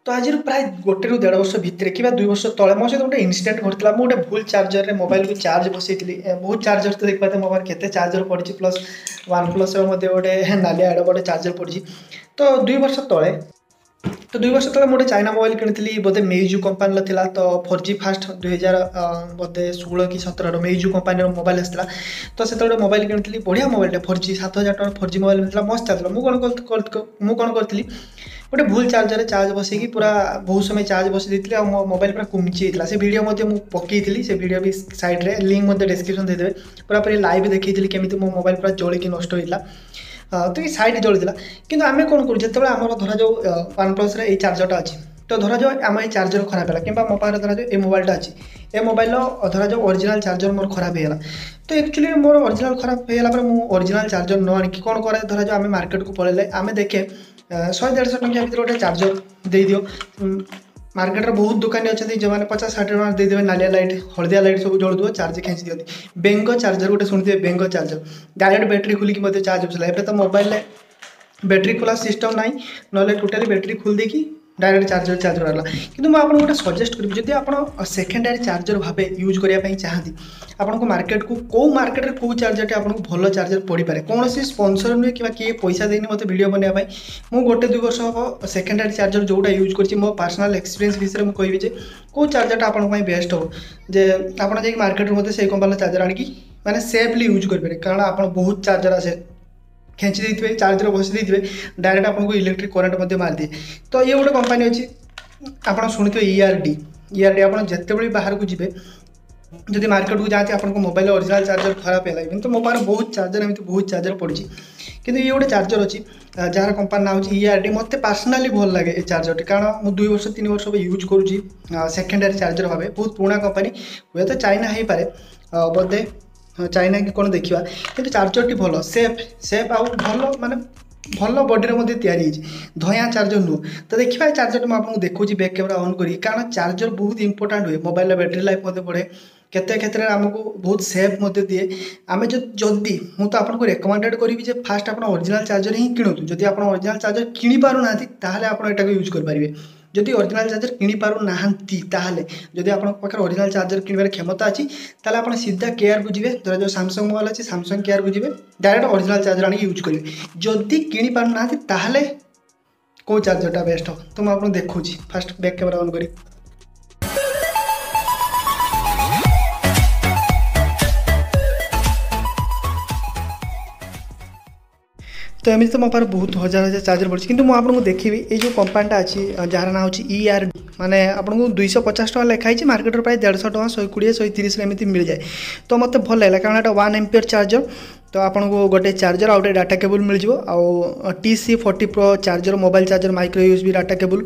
ତ ଆଜିର ପ୍ରାୟ 1ରୁ 1.5 ବର୍ଷ ଭିତରେ କିମ୍ବା 2 ବର୍ଷ ତଳେ ମୋ ସହିତ ଗୋଟେ ଇନସିଡେଣ୍ଟ ଘଟିଥିଲା। ମୁଁ ଗୋଟେ ଭୁଲ ଚାର୍ଜରରେ ମୋବାଇଲକୁ ଚାର୍ଜ ବସେଇଥିଲି। ବହୁତ ଚାର୍ଜର ତ ଦେଖିପାରୁଥିବେ, ମୋ ପାଖରେ କେତେ ଚାର୍ଜର ପଡ଼ିଛି। ପ୍ଲସ୍ ୱାନ୍ ପ୍ଲସ୍ର ମଧ୍ୟ ଗୋଟେ ନାଲିଆ ଆଡ଼ ଗୋଟେ ଚାର୍ଜର ପଡ଼ିଛି। ତ 2 ବର୍ଷ ତଳେ ମୁଁ ଗୋଟେ ଚାଇନା ମୋବାଇଲ କିଣିଥିଲି, ବୋଧେ ମେଇଜୁ କମ୍ପାନୀର ଥିଲା। ତ 4G first 2000 ବୋଧେ 16 କି 17ର ମେଇଜୁ କମ୍ପାନୀର ମୋବାଇଲ ଆସିଥିଲା। ତ ସେତେବେଳେ ମୋବାଇଲ କିଣିଥିଲି, ବଢ଼ିଆ ମୋବାଇଲଟା, 4G, 7000 ଟଙ୍କା 4G mobile ମିଳିଥିଲା, ମସ୍ତ ଚାଲିଥିଲା। ମୁଁ କ'ଣ କରିଥିଲି, ଗୋଟେ ଭୁଲ ଚାର୍ଜରରେ ଚାର୍ଜ ବସେଇକି ପୁରା ବହୁତ ସମୟ ଚାର୍ଜ ବସେଇ ଦେଇଥିଲି ଆଉ ମୋ ମୋବାଇଲ ପୁରା କୁମଚି ହେଇଥିଲା। ସେ ଭିଡ଼ିଓ ମଧ୍ୟ ମୁଁ ପକେଇଥିଲି, ସେ ଭିଡ଼ିଓ ବି ସାଇଡ଼୍ରେ ଲିଙ୍କ୍ ମଧ୍ୟ ଡେସ୍କ୍ରିପସନ୍ ଦେଇଦେବେ। ପୁରାପୁରି ଲାଇଭ୍ ଦେଖେଇଥିଲି କେମିତି ମୋ ମୋବାଇଲ ପୁରା ଜଳିକି ନଷ୍ଟ ହେଇଥିଲା। ତ ଏଇ ସାଇଡ଼୍ ଜଳିଥିଲା। କିନ୍ତୁ ଆମେ କ'ଣ କରୁ, ଯେତେବେଳେ ଆମର ଧରାଯାଉ ୱାନ୍ ପ୍ଲସ୍ରେ ଏଇ ଚାର୍ଜରଟା ଅଛି, ତ ଧରାଯାଉ ଆମ ଏଇ ଚାର୍ଜର ଖରାପ ହେଲା, କିମ୍ବା ମୋ ପାଖରେ ଧରାଯାଉ ଏ ମୋବାଇଲଟା ଅଛି, ଏ ମୋବାଇଲର ଧରାଯାଉ ଅରିଜିନାଲ୍ ଚାର୍ଜର ମୋର ଖରାପ ହେଇଗଲା। ତ ଆକ୍ଚୁଆଲି ମୋର ଅରିଜିନାଲ୍ ଖରାପ ହେଇଗଲା ପରେ ମୁଁ ଅରିଜିନାଲ୍ ଚାର୍ଜର ନ ଆଣିକି କ'ଣ କରେ, ଧରାଯାଉ ଆମେ ମାର୍କେଟକୁ ପଳେଇଲେ ଆମେ ଦେଖେ 100-150 ଟଙ୍କିଆ ଭିତରେ ଗୋଟେ ଚାର୍ଜର ଦେଇଦିଅ। ମାର୍କେଟରେ ବହୁତ ଦୋକାନୀ ଅଛନ୍ତି ଯେଉଁମାନେ 50-60 ଟଙ୍କା ଦେଇଦେବେ, ନାଲିଆ ଲାଇଟ୍, ହଳଦିଆ ଲାଇଟ୍ ସବୁ ଜଳୁଥିବ, ଚାର୍ଜ ଖେଞ୍ଚି ଦିଅନ୍ତି। ବେଙ୍ଗ ଚାର୍ଜର ଗୋଟେ ଶୁଣିଥିବେ, ବେଙ୍ଗ ଚାର୍ଜର, ଡାଇରେକ୍ଟ ବ୍ୟାଟେରୀ ଖୋଲିକି ମଧ୍ୟ ଚାର୍ଜ ବସିଲା। ଏବେ ତ ମୋବାଇଲରେ ବ୍ୟାଟେରୀ ଖୋଲା ସିଷ୍ଟମ୍ ନାହିଁ, ନହେଲେ ଟୋଟାଲି ବ୍ୟାଟେରୀ ଖୋଲି ଦେଇକି ଡାଇରେକ୍ଟ ଚାର୍ଜର ଚାର୍ଜ କରାଗଲା। କିନ୍ତୁ ମୁଁ ଆପଣଙ୍କୁ ଗୋଟେ ସଜେଷ୍ଟ କରିବି, ଯଦି ଆପଣ ସେକେଣ୍ଡାରୀ ଚାର୍ଜର ଭାବେ ୟୁଜ୍ କରିବା ପାଇଁ ଚାହାନ୍ତି, ଆପଣଙ୍କୁ ମାର୍କେଟକୁ କେଉଁ ମାର୍କେଟରେ କେଉଁ ଚାର୍ଜରଟି ଆପଣଙ୍କୁ ଭଲ ଚାର୍ଜର ପଡ଼ିପାରେ। କୌଣସି ସ୍ପନ୍ସର ନୁହେଁ କିମ୍ବା କିଏ ପଇସା ଦେଇନି ମୋତେ ଭିଡ଼ିଓ ବନେଇବା ପାଇଁ। ମୁଁ 1-2 ବର୍ଷ ହେବ ସେକେଣ୍ଡାରୀ ଚାର୍ଜର ଯେଉଁଟା ୟୁଜ୍ କରିଛି, ମୋ ପର୍ସନାଲ୍ ଏକ୍ସପିରିଏନ୍ସ ବିଷୟରେ ମୁଁ କହିବି ଯେ କେଉଁ ଚାର୍ଜରଟା ଆପଣଙ୍କ ପାଇଁ ବେଷ୍ଟ ହେବ, ଯେ ଆପଣ ଯାଇକି ମାର୍କେଟରୁ ମଧ୍ୟ ସେଇ କମ୍ପାନୀର ଚାର୍ଜର ଆଣିକି ମାନେ ସେଫ୍ଲି ୟୁଜ୍ କରିପାରିବେ। କାରଣ ଆପଣ ବହୁତ ଚାର୍ଜର ଆସେ, ଖେଞ୍ଚି ଦେଇଥିବେ, ଚାର୍ଜର ବସି ଦେଇଥିବେ, ଡାଇରେକ୍ଟ ଆପଣଙ୍କୁ ଇଲେକ୍ଟ୍ରିକ୍ କରେଣ୍ଟ ମଧ୍ୟ ମାରିଦିଏ। ତ ଇଏ ଗୋଟେ କମ୍ପାନୀ ଅଛି, ଆପଣ ଶୁଣିଥିବେ, ଇଆର୍ଡି। ଇଆର୍ଡି, ଆପଣ ଯେତେବେଳେ ବି ବାହାରକୁ ଯିବେ, ଯଦି ମାର୍କେଟକୁ ଯାଆନ୍ତି, ଆପଣଙ୍କ ମୋବାଇଲ ଅରିଜିନାଲ୍ ଚାର୍ଜର ଖରାପ ହେଲା, କିନ୍ତୁ ମୋ ପାଖରେ ବହୁତ ଚାର୍ଜର, ଏମିତି ବହୁତ ଚାର୍ଜର ପଡ଼ିଛି, କିନ୍ତୁ ଇଏ ଗୋଟେ ଚାର୍ଜର ଅଛି ଯାହାର କମ୍ପାନୀ ନାଁ ହେଉଛି ଇଆର୍ଡି। ମୋତେ ପର୍ସନାଲି ଭଲ ଲାଗେ ଏ ଚାର୍ଜରଟି, କାରଣ ମୁଁ 2 ବର୍ଷ 3 ବର୍ଷ ହେବ ୟୁଜ୍ କରୁଛି ସେକେଣ୍ଡାରୀ ଚାର୍ଜର ଭାବେ। ବହୁତ ପୁରୁଣା କମ୍ପାନୀ, ହୁଏତ ଚାଇନା ହେଇପାରେ, ବୋଧେ ଚାଇନା କି କ'ଣ ଦେଖିବା, କିନ୍ତୁ ଚାର୍ଜରଟି ଭଲ, ସେଫ୍ ସେଫ୍ ଆଉ ଭଲ, ମାନେ ଭଲ ବଡ଼ିରେ ମଧ୍ୟ ତିଆରି ହେଇଛି, ଧଇଁଆ ଚାର୍ଜର ନୁହଁ। ତ ଦେଖିବା, ଏ ଚାର୍ଜରଟି ମୁଁ ଆପଣଙ୍କୁ ଦେଖାଉଛି ବ୍ୟାକ୍ କ୍ୟାମେରା ଅନ୍ କରିକି, କାରଣ ଚାର୍ଜର ବହୁତ ଇମ୍ପୋର୍ଟାଣ୍ଟ ହୁଏ। ମୋବାଇଲର ବ୍ୟାଟେରୀ ଲାଇଫ୍ ମଧ୍ୟ ବଢ଼େ, କେତେ କ୍ଷେତ୍ରରେ ଆମକୁ ବହୁତ ସେଫ୍ ମଧ୍ୟ ଦିଏ। ଆମେ ଯଦି ମୁଁ ତ ଆପଣଙ୍କୁ ରେକମେଣ୍ଡେଡ଼ କରିବି ଯେ ଫାଷ୍ଟ ଆପଣ ଅରିଜିନାଲ୍ ଚାର୍ଜର ହିଁ କିଣନ୍ତୁ। ଯଦି ଆପଣ ଅରିଜିନାଲ୍ ଚାର୍ଜର କିଣିପାରୁନାହାନ୍ତି, ତାହେଲେ ଆପଣ ଏଟାକୁ ୟୁଜ୍ କରିପାରିବେ। ଯଦି ଅରିଜିନାଲ୍ ଚାର୍ଜର କିଣିପାରୁନାହାନ୍ତି, ତାହେଲେ ଯଦି ଆପଣଙ୍କ ପାଖରେ ଅରିଜିନାଲ୍ ଚାର୍ଜର କିଣିବାର କ୍ଷମତା ଅଛି, ତାହେଲେ ଆପଣ ସିଧା କେୟାରକୁ ଯିବେ। ଧରାଯାଉ ସାମସଙ୍ଗ ମୋବାଇଲ ଅଛି, ସାମସଙ୍ଗ କେୟାରକୁ ଯିବେ, ଡାଇରେକ୍ଟ ଅରିଜିନାଲ୍ ଚାର୍ଜର ଆଣିକି ୟୁଜ୍ କରିବେ। ଯଦି କିଣିପାରୁନାହାନ୍ତି, ତାହେଲେ କେଉଁ ଚାର୍ଜରଟା ବେଷ୍ଟ ହେବ, ତ ମୁଁ ଆପଣଙ୍କୁ ଦେଖାଉଛି ଫାଷ୍ଟ ବ୍ୟାକ୍ କ୍ୟାମେରା ଅନ୍ କରି। ତ ଏମିତି ତ ମୋ ପାଖରେ ବହୁତ ହଜାର ହଜାର ଚାର୍ଜର ପଡ଼ିଛି, କିନ୍ତୁ ମୁଁ ଆପଣଙ୍କୁ ଦେଖିବି ଏଇ ଯେଉଁ କମ୍ପାନୀଟା ଅଛି ଯାହାର ନାଁ ହେଉଛି ଇଆର୍, ମାନେ ଆପଣଙ୍କୁ 250 ଟଙ୍କା ଲେଖା ହେଇଛି, ମାର୍କେଟରେ ପ୍ରାୟ 150 ଟଙ୍କା, 120, 130ରେ ଏମିତି ମିଳିଯାଏ। ତ ମୋତେ ଭଲ ଲାଗିଲା, କାରଣ ଏଇଟା 1 ଏମ୍ପିୟର ଚାର୍ଜର। ତ ଆପଣଙ୍କୁ ଗୋଟେ ଚାର୍ଜର ଆଉ ଗୋଟେ ଡାଟା କେବୁଲ୍ ମିଳିଯିବ, ଆଉ TC40 Pro charger, mobile charger, micro USB data cable,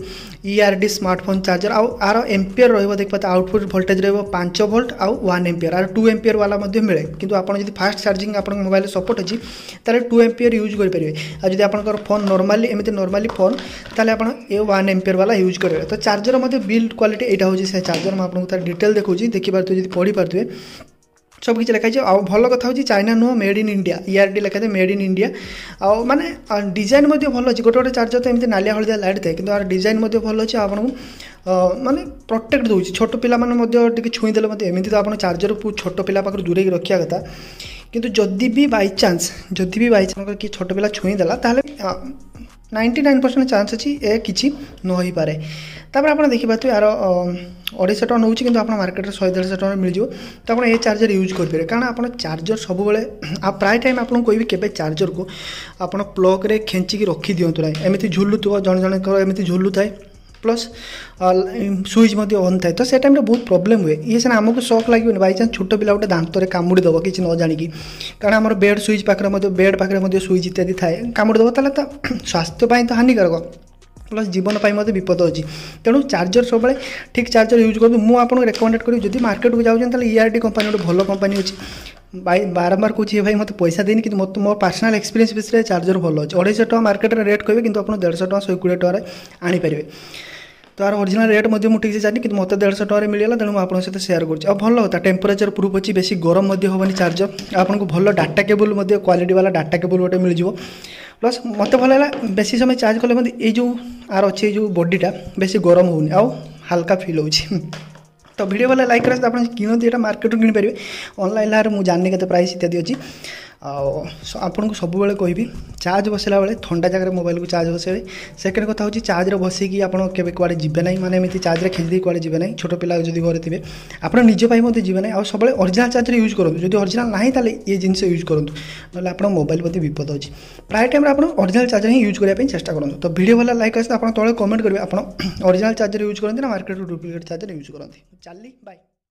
ERD smartphone charger. ଆଉ ଆର ଏମ୍ପିୟର ରହିବ, ଦେଖିପାରୁଥିବେ, ଆଉଟପୁଟ୍ ଭୋଲ୍ଟେଜ୍ ରହିବ 5 ଭୋଲ୍ଟ ଆଉ 1 ଏମ୍ପିୟର। ଆର 2 ଏମ୍ପିୟର ବାଲା ମଧ୍ୟ ମିଳେ, କିନ୍ତୁ ଆପଣ ଯଦି ଫାଷ୍ଟ ଚାର୍ଜିଂ ଆପଣଙ୍କ ମୋବାଇଲରେ ସପୋର୍ଟ ଅଛି, ତାହେଲେ 2 ଏମ୍ପିୟର ୟୁଜ୍ କରିପାରିବେ। ଆଉ ଯଦି ଆପଣଙ୍କର ଫୋନ୍ ନର୍ମାଲି, ଏମିତି ନର୍ମାଲି ଫୋନ୍, ତାହେଲେ ଆପଣ ଏ 1 ଏମ୍ପିୟର ବାଲା ୟୁଜ୍ କରିବେ। ତ ଚାର୍ଜର ମଧ୍ୟ ବିଲ୍ଡ କ୍ୱାଲିଟି, ଏଇଟା ହେଉଛି ସେ ଚାର୍ଜର, ମୁଁ ଆପଣଙ୍କୁ ତାର ଡିଟେଲ୍ ଦେଖାଉଛି। ଦେଖିପାରୁଥିବେ, ଯଦି ପଢ଼ିପାରୁଥିବେ, ସବୁ କିଛି ଲେଖା ହେଇଛି। ଆଉ ଭଲ କଥା ହେଉଛି ଚାଇନା ନୁହଁ, ମେଡ୍ ଇନ୍ ଇଣ୍ଡିଆ, ଇଆର୍ଡି ଲେଖାଥାଏ, ମେଡ୍ ଇନ୍ ଇଣ୍ଡିଆ। ଆଉ ମାନେ ଡିଜାଇନ୍ ମଧ୍ୟ ଭଲ ଅଛି। ଗୋଟେ ଗୋଟେ ଚାର୍ଜର ତ ଏମିତି ନାଲିଆ ହଳଦିଆ ଲାଇଟ୍ ଥାଏ, କିନ୍ତୁ ଆର ଡିଜାଇନ୍ ମଧ୍ୟ ଭଲ ଅଛି ଆଉ ଆପଣଙ୍କୁ ମାନେ ପ୍ରୋଟେକ୍ଟ ଦେଉଛି। ଛୋଟ ପିଲାମାନେ ମଧ୍ୟ ଟିକେ ଛୁଇଁ ଦେଲେ ମଧ୍ୟ, ଏମିତି ତ ଆପଣ ଚାର୍ଜରକୁ ଛୋଟ ପିଲା ପାଖରୁ ଦୂରେଇକି ରଖିବା କଥା, କିନ୍ତୁ ଯଦି ବି ବାଇଚାନ୍ସ କି ଛୋଟ ପିଲା ଛୁଇଁ ଦେଲା, ତାହେଲେ 99% ଚାନ୍ସ ଅଛି ଏ କିଛି ନ ହେଇପାରେ। ତାପରେ ଆପଣ ଦେଖିପାରୁଥିବେ, ଆର 250 ଟଙ୍କା ନେଉଛି, କିନ୍ତୁ ଆପଣ ମାର୍କେଟରେ 100-150 ଟଙ୍କାରେ ମିଳିଯିବ। ତ ଆପଣ ଏ ଚାର୍ଜର ୟୁଜ୍ କରିପାରିବେ, କାରଣ ଆପଣ ଚାର୍ଜର ସବୁବେଳେ, ଆଉ ପ୍ରାୟ ଟାଇମ୍ ଆପଣଙ୍କୁ କହିବି, କେବେ ଚାର୍ଜରକୁ ଆପଣ ପ୍ଲଗ୍ରେ ଖେଞ୍ଚିକି ରଖିଦିଅନ୍ତୁ ନାହିଁ। ଏମିତି ଝୁଲୁଥିବ, ଜଣେ ଜଣଙ୍କର ଏମିତି ଝୁଲୁଥାଏ, ପ୍ଲସ୍ ସୁଇଚ୍ ମଧ୍ୟ ଅନ୍ ଥାଏ, ତ ସେ ଟାଇମ୍ରେ ବହୁତ ପ୍ରୋବ୍ଲେମ୍ ହୁଏ। ଇଏ ସିନା ଆମକୁ ସକ୍ ଲାଗିବନି, ବାଇଚାନ୍ସ ଛୋଟ ପିଲା ଗୋଟେ ଦାନ୍ତରେ କାମୁଡ଼ି ଦେବ କିଛି ନ ଜାଣିକି, କାରଣ ଆମର ବେଡ଼୍ ସୁଇଚ୍ ପାଖରେ ମଧ୍ୟ, ବେଡ଼୍ ପାଖରେ ମଧ୍ୟ ସୁଇଚ୍ ଇତ୍ୟାଦି ଥାଏ, କାମୁଡ଼ି ଦେବ, ତାହେଲେ ତା ସ୍ୱାସ୍ଥ୍ୟ ପାଇଁ ତ ହାନିକାରକ, ପ୍ଲସ୍ ଜୀବନ ପାଇଁ ମଧ୍ୟ ବିପଦ ଅଛି। ତେଣୁ ଚାର୍ଜର ସବୁବେଳେ ଠିକ୍ ଚାର୍ଜର ୟୁଜ୍ କରନ୍ତୁ। ମୁଁ ଆପଣଙ୍କୁ ରେକମେଣ୍ଡେଡ଼ କରିବି, ଯଦି ମାର୍କେଟକୁ ଯାଉଛନ୍ତି, ତାହେଲେ ଇଆର୍ଡି କମ୍ପାନୀ ଗୋଟେ ଭଲ କମ୍ପାନୀ ଅଛି। ଭାଇ, ବାରମ୍ବାର କହୁଛି, ଏ ଭାଇ ମୋତେ ପଇସା ଦେଇନି, କିନ୍ତୁ ମୋତେ ମୋ ପର୍ସନାଲ୍ ଏକ୍ସପିରିଏନ୍ସ ବିଷୟରେ ଚାର୍ଜର ଭଲ ଅଛି। 250 ଟଙ୍କା ମାର୍କେଟରେ ରେଟ୍ କହିବେ, କିନ୍ତୁ ଆପଣ 150 ଟଙ୍କା, 120 ଟଙ୍କାରେ ଆଣିପାରିବେ। ତ ଆର ଅରିଜିନାଲ୍ ରେଟ୍ ମଧ୍ୟ ମୁଁ ଠିକ୍ସେ ଜାଣିନି, କିନ୍ତୁ ମୋତେ 150 ଟଙ୍କାରେ ମିଳିଗଲା, ତେଣୁ ମୁଁ ଆପଣଙ୍କ ସହିତ ସେୟାର କରୁଛି। ଆଉ ଭଲ କଥା, ଟେମ୍ପରେଚର୍ ପ୍ରୁଫ୍ ଅଛି, ବେଶୀ ଗରମ ମଧ୍ୟ ହେବନି ଚାର୍ଜର। ଆପଣଙ୍କୁ ଭଲ ଡାଟା କେବୁଲ୍ ମଧ୍ୟ, କ୍ୱାଲିଟି ବାଲା ଡାଟା କେବୁଲ୍ ଗୋଟେ ମିଳିଯିବ। ପ୍ଲସ୍ ମୋତେ ଭଲ ହେଲା, ବେଶୀ ସମୟ ଚାର୍ଜ କଲେ ମଧ୍ୟ ଏଇ ଯେଉଁ ଆର ଅଛି, ଏଇ ଯେଉଁ ବଡ଼ିଟା ବେଶୀ ଗରମ ହେଉନି ଆଉ ହାଲକା ଫିଲ୍ ହେଉଛି। ତ ଭିଡ଼ିଓ ଭଲ ଲାଇକ୍ କରେ। ଆପଣ କିଣନ୍ତି, ଏଇଟା ମାର୍କେଟରୁ କିଣିପାରିବେ, ଅନଲାଇନ୍ ମୁଁ ଜାଣିନି କେତେ ପ୍ରାଇସ୍ ଇତ୍ୟାଦି ଅଛି। ଆଉ ଆପଣଙ୍କୁ ସବୁବେଳେ କହିବି, ଚାର୍ଜ ବସାଇଲା ବେଳେ ଥଣ୍ଡା ଜାଗାରେ ମୋବାଇଲକୁ ଚାର୍ଜ ବସାଇବେ। ସେକେଣ୍ଡ କଥା ହେଉଛି, ଚାର୍ଜରେ ବସେଇକି ଆପଣ କେବେ କୁଆଡ଼େ ଯିବେ ନାହିଁ, ମାନେ ଏମିତି ଚାର୍ଜରେ ଖେଞ୍ଚି ଦେଇ କୁଆଡ଼େ ଯିବେ ନାହିଁ। ଛୋଟ ପିଲା ଯଦି ଘରେ ଥିବେ, ଆପଣ ନିଜ ପାଇଁ ମଧ୍ୟ ଯିବେ ନାହିଁ। ଆଉ ସବୁବେଳେ ଅରିଜିନାଲ୍ ଚାର୍ଜର ୟୁଜ୍ କରନ୍ତୁ। ଯଦି ଅରିଜିନାଲ୍ ନାହିଁ, ତାହେଲେ ଏ ଜିନିଷ ୟୁଜ୍ କରନ୍ତୁ, ନହେଲେ ଆପଣ ମୋବାଇଲ ପ୍ରତି ବିପଦ ଅଛି। ପ୍ରାୟ ଟାଇମ୍ରେ ଆପଣ ଅରିଜିନାଲ୍ ଚାର୍ଜର ହିଁ ୟୁଜ୍ କରିବା ପାଇଁ ଚେଷ୍ଟା କରନ୍ତୁ। ତ ଭିଡ଼ିଓ ଭଲ ଲାଇକ୍ ଅଛି, ଆପଣ ତଳେ କମେଣ୍ଟ କରିବେ, ଆପଣ ଅରିଜିନାଲ୍ ଚାର୍ଜର ୟୁଜ୍ କରନ୍ତି ନା ମାର୍କେଟରୁ ଡୁପ୍ଲିକେଟ୍ ଚାର୍ଜର ୟୁଜ୍ କରନ୍ତି। ଚାଲିଲି, ବାଏ।